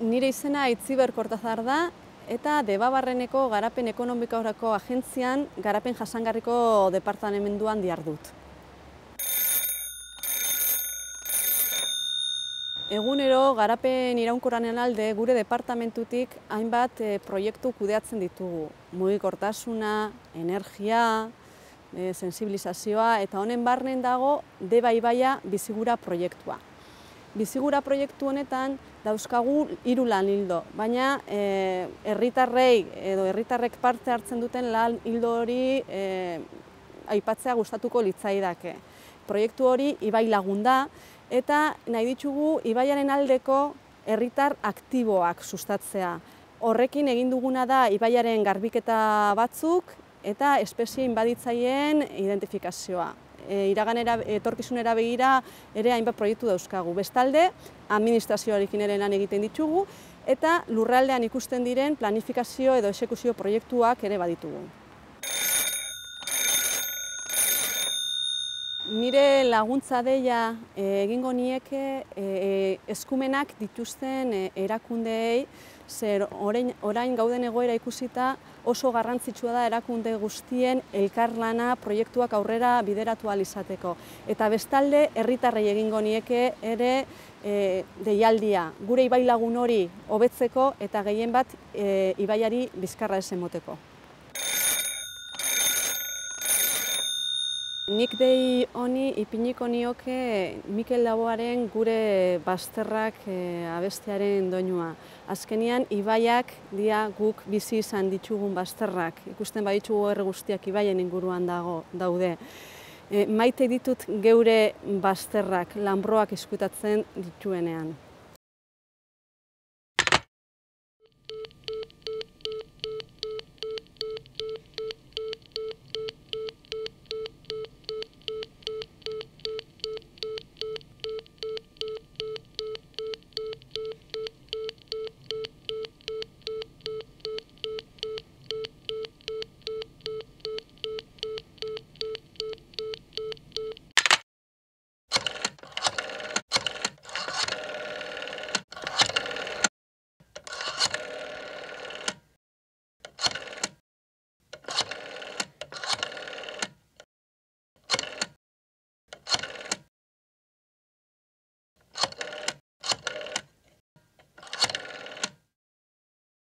Nire izena Itziber Kortazar da eta Debabarreneko Garapen Ekonomikorako Agentzian Garapen Jasangarriko departamentuan dihardut. Egunero garapen iraunkorraren alde gure departamentutik hainbat proiektu kudeatzen ditugu. Mugikortasuna, energia, sensibilizazioa eta honen barnen dago Deba ibaia bizigura proiektua. Bizigura proiektu honetan dauzkagu 3 lan ildo, baina herritarrei edo herritarrek parte hartzen duten lan ildo hori aipatzea gustatuko litzaidake. Proiektu hori Ibai Lagun da eta nahi ditugu ibaiaren aldeko herritar aktiboak sustatzea. Horrekin egin duguna da ibaiaren garbiketa batzuk eta espezie inbaditzaileen identifikazioa. Iraganera, etorkizunera begira ere hainbat proiektu dauzkagu. Bestalde, administrazioarekin ere lan egiten ditugu eta lurraldean ikusten diren planifikazio edo exekuzio proiektuak ere baditugu. Nire laguntza deia egingo nieke eskumenak dituzten erakundeei, zer orain gauden egoera ikusita oso garrantzitsua da erakunde guztien elkarlana proiektuak aurrera bideratu ahal izateko. Eta bestalde, herritarrei egingo nieke ere deialdia, gure Ibai Lagun hori hobetzeko eta gehien bat ibaiari bizkarra ez emoteko. Nik dei honi ipiniko nioke Mikel Laboaren Gure bazterrak abestiaren doinua. Azkenean, ibaiak dira guk bizi izan ditugun bazterrak. Ikusten baditugu herri guztiak ibaien inguruan daude. Maite ditut geure bazterrak, lanbroak izkutatzen dituenean.